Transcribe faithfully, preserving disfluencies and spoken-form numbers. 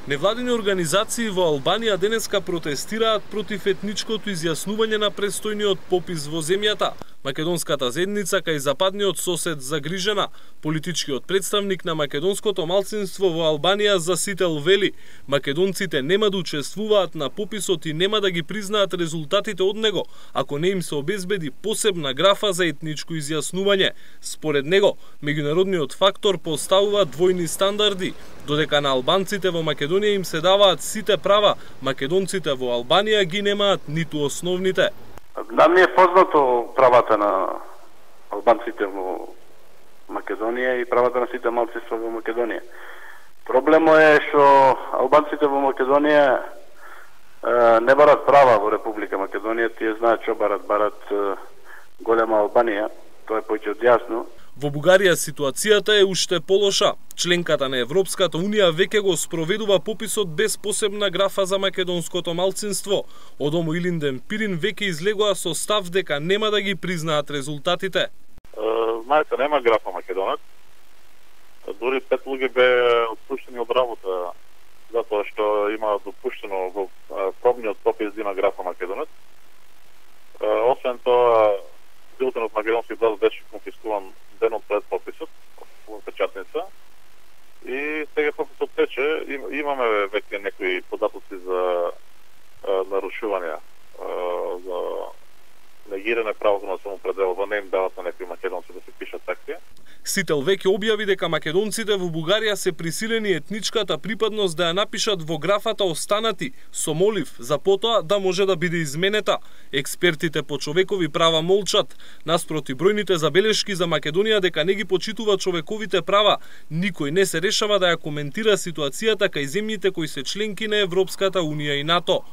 Невладини организации во Албанија денеска протестираат против етничкото изјаснување на престојниот попис во земјата. Македонската заедница кај западниот сосед загрижена. Политичкиот представник на македонското малцинство во Албанија Засител вели: македонците нема да учествуваат на пописот и нема да ги признаат резултатите од него, ако не им се обезбеди посебна графа за етничко изјаснување. Според него, меѓународниот фактор поставува двојни стандарди. Додека на албанците во Македонија им се даваат сите права, македонците во Албанија ги немаат ниту основните. Нам ми е познато правата на албанците во Македонија и правата на сите малцинства во Македонија. Проблемот е што албанците во Македонија е, не барат права во Република Македонија, тие знаат што барат, барат е, голема Албанија, тоа е повеќе од јасно. Во Бугарија ситуацијата е уште полоша. Членката на Европската Унија веќе го спроведува пописот без посебна графа за македонското малцинство. Од Омо Илинден Пирин веќе излегоа со став дека нема да ги признаат резултатите. Знаете, нема графа македонец. Дури пет луѓе беа отпуштени од работа затоа што има допуштено во пробниот попис да има графа македонец. Освен тоа, билтенот македонски глас беше конфискуван денот пред пописот во печатница и сега пописот тече. Имаме веќе некои податоци за нарушувања, за негирање правото на самоопределување, не им дават на некои македонци да се пишат такви. Сител веќе објави дека македонците во Бугарија се присилени етничката припадност да ја напишат во графата останати, со молив за потоа да може да биде изменета. Експертите по човекови права молчат. Наспроти бројните забелешки за Македонија дека не ги почитува човековите права, никој не се решава да ја коментира ситуацијата кај земјите кои се членки на Европската Унија и НАТО.